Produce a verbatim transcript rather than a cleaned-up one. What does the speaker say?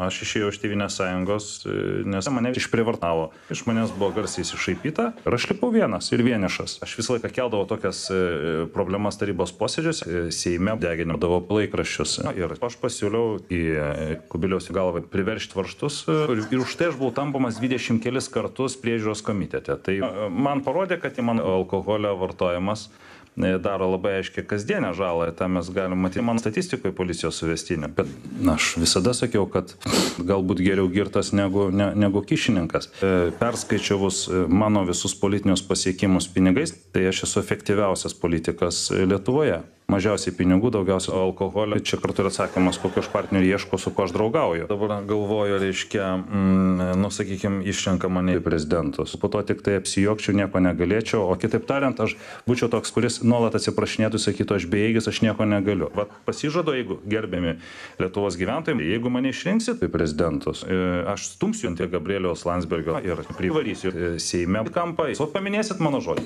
Aš išėjau iš Tėvynės sąjungos, nes mane išprievartavo. Iš manęs buvo garsiai iššaipyta ir aš lipau vienas ir vienišas. Aš visą laiką keldavau tokias problemas tarybos posėdžiuose, Seime deginimdavau laikraščius. Ir aš pasiūliau į Kubiliaus galvą priveršti varžtus ir už tai aš buvau tampomas dvidešimt kelis kartus priežiūros komitete. Tai man parodė, kad į mano alkoholio vartojimas daro labai aiškiai kasdienę žalą, tą mes galim matyti mano statistikoje policijos suvestinė. Bet na, aš visada sakiau, kad galbūt geriau girtas negu, ne, negu kišininkas. Perskaičiavus mano visus politinius pasiekimus pinigais, tai aš esu efektyviausias politikas Lietuvoje. Mažiausiai pinigų, daugiausiai alkoholio. Čia kartu ir atsakymas, kokio aš partnerių ieško, su kuo aš draugauju. Dabar galvoju, reiškia, mm, nu, sakykime, išrenka mane į prezidentus. Po to tik tai apsijokčiau, nieko negalėčiau, o kitaip tariant, aš būčiau toks, kuris nuolat atsiprašinėtų, sakytų, aš bejėgis, aš nieko negaliu. Vat pasižadu, jeigu gerbiami Lietuvos gyventojai, jeigu mane išrinksit į prezidentus, aš stumsiu ant Gabrieliaus Landsbergio ir privarysiu Seime kampą. O paminėsit mano žodį.